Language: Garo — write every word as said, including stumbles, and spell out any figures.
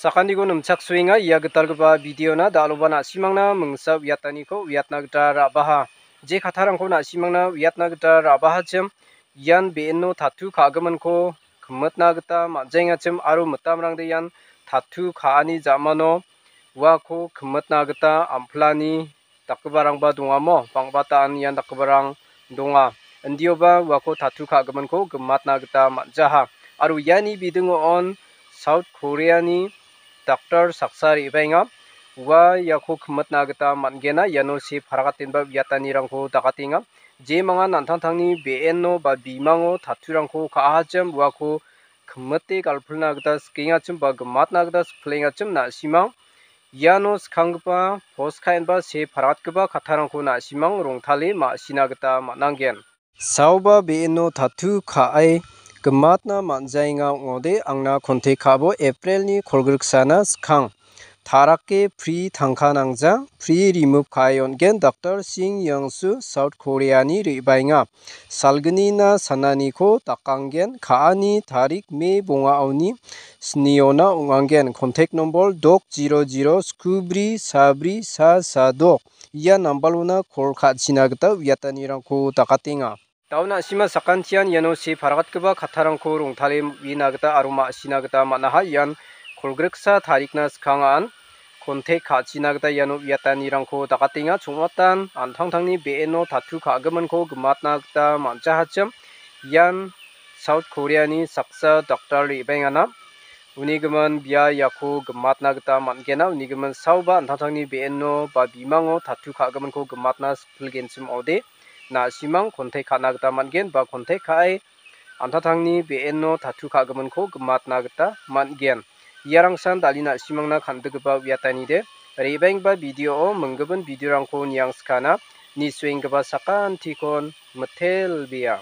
Sakantikon nimchaksoenga ia gitalgipa videona, dal·oba na·simangna mingsa uiataniko uiatna gita ra·baha. Je kattarangko na·simangna uiatna gita ra·bahachim, ian be·eno tatu ka·giminko kimitna gita man·jaengachim aro mitamrangde ian tatu ka·ani ja·mano uako kimitna gita am·pilani dakgiparangba dongamo? Bang·bata an ian dakgiparang donga. Indioba uako tatu ka·giminko gimatna gita man·jaha. Aro iani bidingo on South Koreani daktar saksa re·baenga. Ua iako kimitna gita man·gena, iano see paragatenba uiatanirangko dakatenga. Jemangan an·tangtangni be·eno ba bimango taturangko ka·ahachim uako kimite galpilna gita sikengachim ba gimatna gita sikpilengachim na·simang iano skanggipa pos ka·enba see paratgipa kattarangko na·simang rongtale ma·sina gita man·angen. Saoba be·eno tatu ka·e gimatna man·jaenga ong·ode angna kontek ka·bo. April-ni kolgriksana skang. Tarake pri tangka nangja, pri remove ka·e on·gen, Daktar Sing Yangsu, South Korea-ni re·baenga. Salgnina sananiko dakanggen, ka·ani tarik May bongaoni sniona ong·angen. Kontek nombor dok zero zero skubri sabri sa sa dok. Ia nambalona kol ka·china gita uiatanirangko dakatenga. Dao na·sima sakantian iano see paragatgipa kattarangko rongtale uina gita aro ma·sina gita man·aha. Ian kolgriksa tarikna skangan kontek ka·china gita iano uiatanirangko dakatenga. Chongmatan an·tangtangni be·eno tatu ka·giminko gimatna gita man·jahachim. Ian South Korea-ni saksa daktar re·baengana. Uni gimin bia iako gimatna gita man·gena. Uni gimin saoba an·tangtangni be·eno ba bimango tatu ka·giminko gimatna sikpilgenchim ong·ode, na·simang kontek ka·na gita man·gen ba kontek ka·e an·tangtangni be·eno tatu ka·giminko gimatna gita man·gen. Iarangsan dal·e na·simangna kan·gipa uiatanide. Re·baenggipa video-o minggipin video-rangko niangskana. Nisuenggipa sakantikon mitelbea.